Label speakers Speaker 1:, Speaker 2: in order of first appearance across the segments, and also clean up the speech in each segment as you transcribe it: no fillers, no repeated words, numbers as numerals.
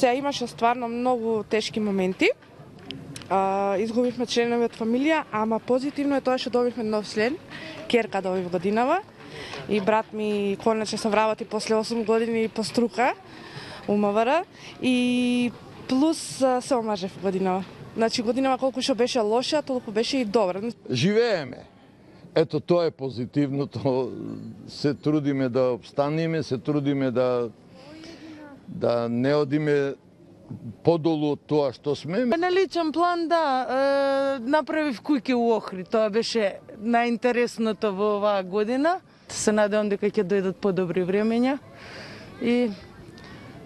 Speaker 1: Се имаше стварно многу тешки моменти. Изгубивме членови од фамилија, ама позитивно е тоа што добивме нов член, ќерка добив годинава. И брат ми конечно се вработи после 8 години по струка у МВР и плюс се омажев годинава. Значи годинава колку што беше лоша, толку беше и добра.
Speaker 2: Живееме. Ето тоа е позитивното. Се трудиме да обстанеме, се трудиме да не одиме подолу од тоа што сме.
Speaker 3: На личен план, да, направив куќи у Охрид. Тоа беше најинтересното во оваа година. Се надевам дека ќе дојдат подобри времења и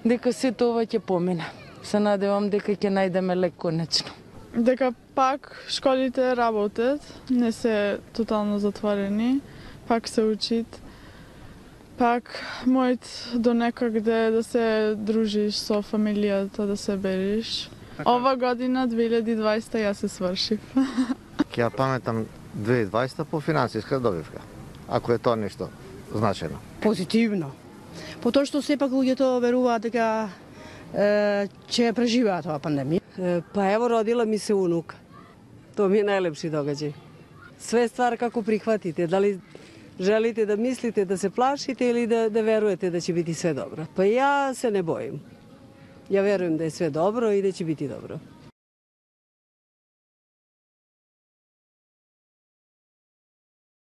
Speaker 3: дека сето ова ќе помине. Се надевам дека ќе најдеме лек конечно.
Speaker 4: Дека пак школите работат, не се тотално затворени, пак се учит. Пак мојот до некаде да се дружиш со фамилијата, да се бериш. Ова година, 2020, јас се свршив.
Speaker 5: Ќе ја паметам 2020 по финансиска добивка, ако е тоа нешто значено.
Speaker 6: Позитивно. По тоа што сепак луѓето веруваат дека ќе преживеат оваа пандемија.
Speaker 7: Па ево, родила ми се унука. Тоа ми е најлепши догаѓај. Све ствар како прихватите, дали желите да мислите да се плашите или да верувате да ќе биде све добро. Па ја се не боим. Ја верувам да е све добро и да ќе биде добро.